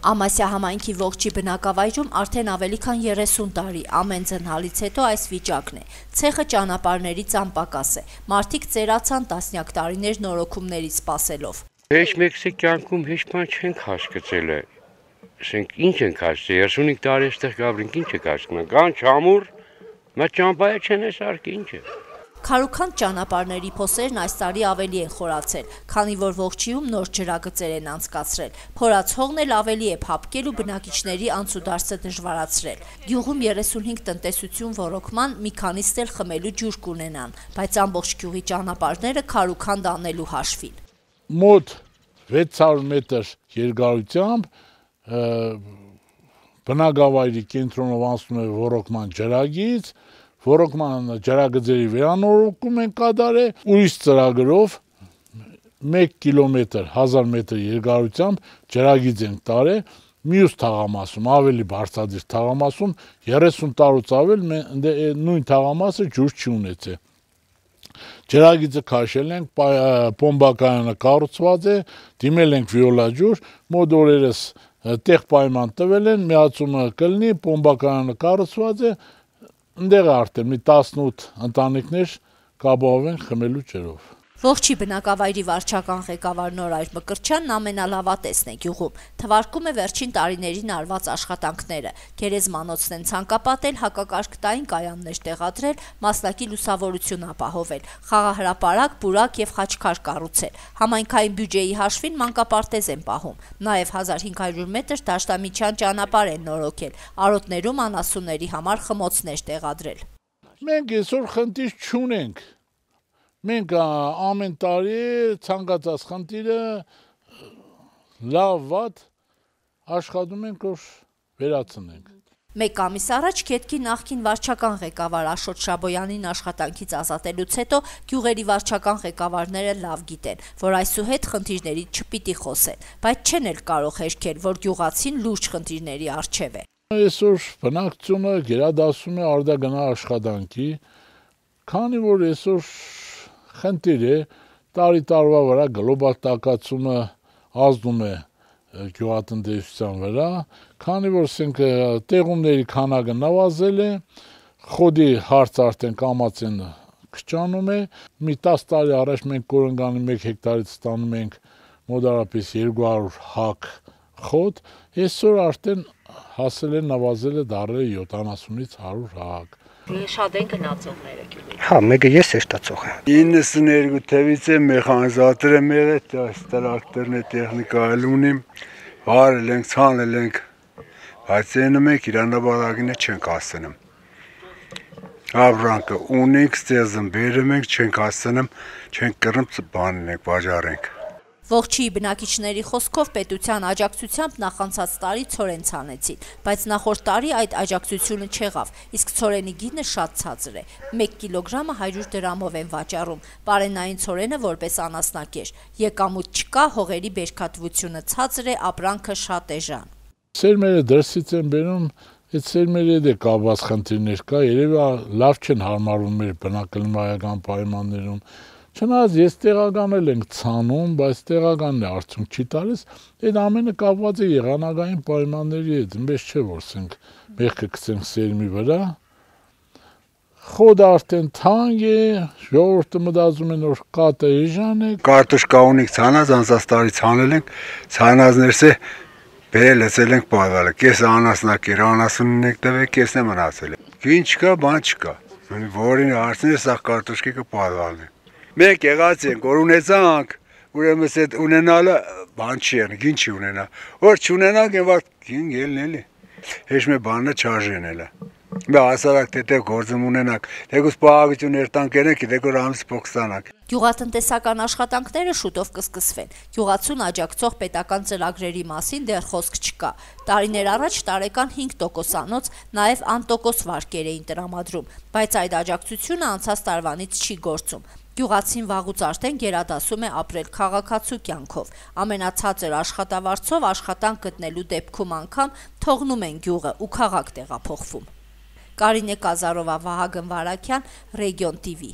Ամասիա համայնքի ողջի բնակավայրում արդեն ավելի քան 30 տարի ամեն ձնհալից հետո այս վիճակն է։ Ցեխը ճանապարհների ծանպակաս է։ Մարդիկ ծերացան տասնյակ տարիներ նորոգումներից սպասելով։ Հեչ մեկսի կյանքում հեչ բան չենք հասկացել է։ Ասենք ինչ ենք հասցել 35 տարի այստեղ գաբրինք ինչ եք հասկանում։ Կան չամուր, մա ճամփայա չեն սարք ինչ է։ Քարուքանդ ճանապարհների փոսերն այս տարի ավելի են խորացել, քանի որ ողջիում նոր ջրագծեր են անցկացրել։ Փորած հողն էլ ավելի է փափկել ու բնակիչների անցուդարձը դժվարացրել։ Գյուղում 35 տնտեսություն ոռոգման մի քանիստ էլ խմելու ջուր կունենան, բայց ամբողջ գյուղի ճանապարհները քարուքանդ անելու հաշվին։ Մոտ 600 մետր երկարությամբ բնակավայրի կենտրոնով անցնում է ոռոգման ջրագիծ, ոռոգման ջրագծերի վերանորոգում են կատարել, ուրիշ ծրագրով 1 կիլոմետր 1000 մետր երկարությամբ ջրագիծ են տարել, մյուս թաղամասում, ավելի բարձրադիր թաղամասում 30 տարուց ավել նույն թաղամասը ջուր չի ունեցել։ Ջրագիծը քաշել ենք, պոմբակայանը կառուցված է, դիմել ենք վիոլաջուր, մոտ օրերս տեղ պայման տվել են, միացումը կլինի, պոմբակայանը կառուցված է, ընդեղ արդեն մի 18 ընտանիքներ կապահով են խմելու ջրով։ Ողջի բնակավայրի վարչական ղեկավար Նորայր Մկրտչյանն ամենալավատեսն է գյուղում, թվարկում է վերջին տարիներին արված աշխատանքները, գերեզմանոցն են ցանկապատել, հակակարգտային կայաններ տեղադրել, մասնակի լուսավորություն ապահովել, խաղահրապարակ, պուրակ եւ խաչքար կառուցել, համայնքային բյուջեի հաշվին մանկապարտեզ են պահում, նաեւ 1500 մետր դաշտամիջյան ճանապարհ են նորոգել, արոտներում անասունների համար խմոցներ տեղադրել։ Մենք այսօր խնդիր չունենք։ Մենք ամեն տարի ցանկացած խնդիրը լավ վատ աշխատում ենք որ վերացնենք։ Մեկ ամիս առաջ Քետքի նախկին վարչական ղեկավար Աշոտ Շաբոյանին աշխատանքից ազատելուց հետո գյուղերի վարչական ղեկավարները լավ գիտեն, որ այսուհետ խնդիրներից չպիտի խոսեն, բայց չեն էլ կարող հերքել, որ գյուղացին լուրջ խնդիրների առջև է։ Այսօր բնակչությունը գերադասում է արտագնա աշխատանքի, քանի որ այսօր խնդիր է, տարի տարվա վրա գլոբալ տաքացումը ազդում է գյուղատնտեսության վրա, քանի որ տեղումների քանակը նվազել է, խոդի հարց արդեն կամացեն քչանում է, մի 10 տարի առաջ մենք կորնգանի 1 հեկտարից ստանում ենք մոտարապես 200 հակ խոդ, այսօր արդեն հասել է նվազել է դարել 70-ից 100 հակ։ Շատ են գնացողները գյուղի։ Հա, մեկը ես է ստացող եմ։ 92 թվից է մեխանիզատոր եմ եղել, տրակտորն է տեխնիկա էլ ունիմ, վարել ենք, ցանել ենք, բայց այնը մենք իրանաբարագինը չենք հասցնում։ Ապրանքը ունենք, ստեղծում բերում ենք, չենք հասցնում, չենք կռնում, բանն ենք, վաճառենք։ Ողջի բնակիչների խոսքով պետության աջակցությամբ նախանցած տարի ցորեն ցանեցին, բայց նախորդ տարի այդ աջակցությունը չեղավ, իսկ ցորենի գինը շատ ցածր է։ 1 կիլոգրամը 100 դրամով են վաճառում, պարենային ցորենը որպես անասնակեր։ Եկամուտ չկա, հողերի բերքատվությունը ցածր է, ապրանքը շատ էժան։ Սերմերը դրսից են բերում, այդ սերմերի հետ կապված խնդիրներ կա, երևի լավ չեն հարմարվում մեր բնակլիմայական պայմաններում։ Չնայած ես տեղականել ենք ցանում, բայց տեղականն է արդյունք չի տալիս, այդ ամենը կապված է եղանակային պայմանների հետ, մեզ չէ որ սենք մեղքը գցենք սերմի վրա։ Խոդը արդեն թանկ է, ժողովուրդը մտածում են որ կատը էժան է։ Կարտոշկա ունենք ցանած, անցած տարի ցանել ենք, ցանածներս է բերել լցել ենք պարվալը, կեսը անասնակեր, անասունն ենք տվել, կեսն է մնացել։ Գին չկա, բան չկա։ Որին հարցներ սա կարտոշկիկը պարվալն է։ Մենք եղած ենք, որ ունեցանք, ուրեմն այդ ունենալը բան չի եղնի, գին չի ունենա։ Որ չունենանք, են վատ գին ելն էլի։ Հեչ մի բանը չարժեն էլը։ Մի հասարակ տետև գործում ունենանք, դեգուս պահագություն երտանք երենք, դեգուր ամս փող ստանանք։ Գյուղատնտեսական աշխատանքները շուտով կսկսվեն։ Գյուղացուն աջակցող պետական ծրագրերի մասին դեռ խոսք չկա։ Տարիներ առաջ տարեկան 5%-անոց նաև անտոկոս վարկեր էին տրամադրում, բայց այդ աջակցությունը անցած տարվանից չի գործում։ Գյուղացին վաղուց արդեն գերադասում է ապրել քաղաքացու կյանքով։ Ամենացածր աշխատավարձով աշխատանք գտնելու դեպքում անգամ թողնում են գյուղը ու քաղաք տեղափոխվում։ Կարինե Կազարովա, Վահագն Վարակյան, Ռեգիոն TV։